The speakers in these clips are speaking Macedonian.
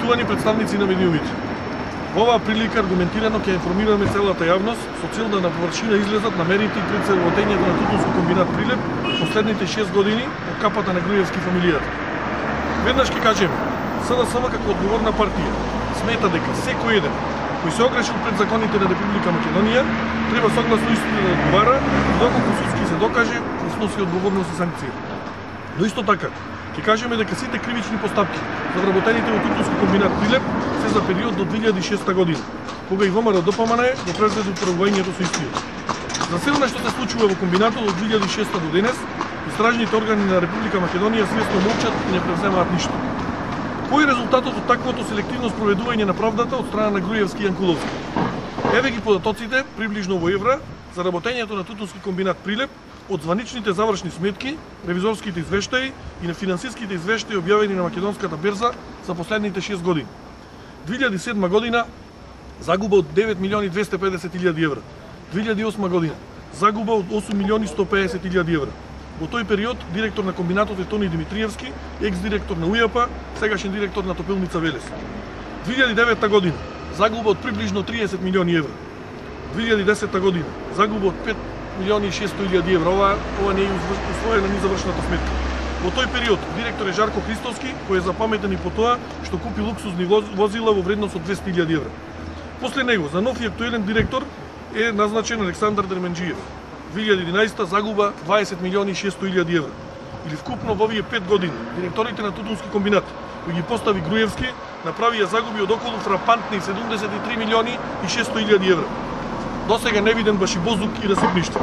Почитувани представници на медиумите, во оваа прилика аргументирано ќе информираме целата јавност со цел да на површина излезат намерите и прецелотењето на Тутунски комбинат Прилеп последните 6 години од капата на Груевски фамилијата. Веднаш ќе кажеме, СДСМ како одговорна партија смета дека секој еден кој се огрешил пред законите на Република Македонија треба согласно истото да одговара и доколку судски се докаже да сноси одговорност и санкција. Но исто така ќе кажеме дека сите кривични постапки за вработените во Тутунски комбинат Прилеп се за период до 2006 година, кога и ВМРО ДПМН го презеде управувањето со истиот. За се она што се случува во комбинатот од 2006 до денес, истражните органи на Република Македонија свесно молчат и не превземаат ништо. Кој е резултатот од таквото селективно спроведување на правдата од страна на Груевски и Јанкуловски? Еве ги податоците, приближно во евра, за работењето на Тутунски комбинат Прилеп од званичните завршни сметки, ревизорските извештаи и на финансиските извештаи објавени на македонската берза за последните 6 години. 2007 година загуба од 9.250.000 евра. 2008 година загуба од 8.150.000 евра. Во тој период директор на комбинатот е Тони Димитриевски, екс-директор на УЈАП, сегашен директор на Топилница Велес. 2009 година загуба од приближно 30 милиони евра. 2010 година загуба од 5.600.000 евра. Ова не е усвоена ни завршната сметка. Во тој период директор е Жарко Христовски, кој е запаметен и по тоа што купи луксузни возила во вредност од 200.000 евра. После него за нов и актуелен директор е назначен Александар Дерменџиев. 2011 загуба 20.600.000 евра. Или вкупно во овие 5 години директорите на Тутунски комбинат, кои ги постави Груевски, направија загуби од околу фрапантни 73.600.000 евра. Досега не виден башибозук и расипништво.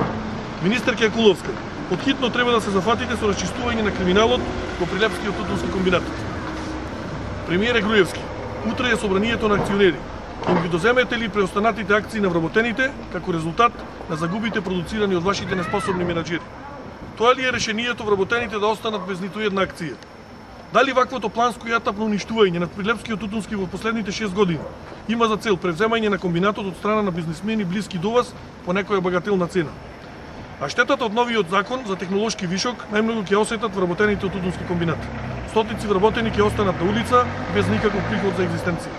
Министерка Јанкуловска, подхитно треба да се зафатите со расчистување на криминалот во Прилепскиот Тутунски комбинат. Премиер Груевски, утре е собранието на акционери. Им ги доземете ли преостанатите акции на вработените како резултат на загубите продуцирани од вашите неспособни менаџери? Тоа ли е решението вработените да останат без ниту една акција? Дали ваквото планско и атапно уништување на Прилепскиот Тутунски во последните 6 години има за цел превземање на комбинатот од страна на бизнисмени блиски до вас по некоја багателна цена? А штетата од новиот закон за технолошки вишок најмногу ќе осетат вработените од Тутунски комбинат. Стотици вработени ќе останат на улица без никаков приход за екзистенција.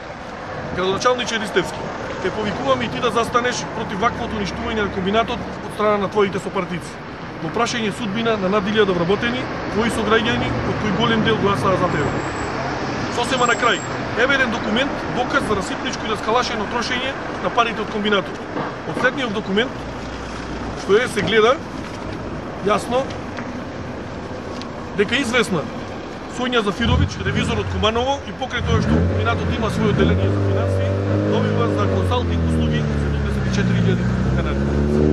Градоначалниче Ристевски, ќе повикуваме и ти да застанеш против ваквото уништување на комбинатот од страна на твоите сопартици. Во прашање судбина на над 1000 вработени, твои сограѓани, од кои голем дел гласаа за тебе. Сосема на крај, еве еден документ, доказ за расипничко и раскалашено трошење на парите од комбинатот. Од следниот документ, што се гледа, јасно, дека известна Сонја Зафировиќ, ревизор од Куманово, и покрај тоа што комбинатот има своје одделение за финансии, добива за консалтинг услуги 74.000 канади.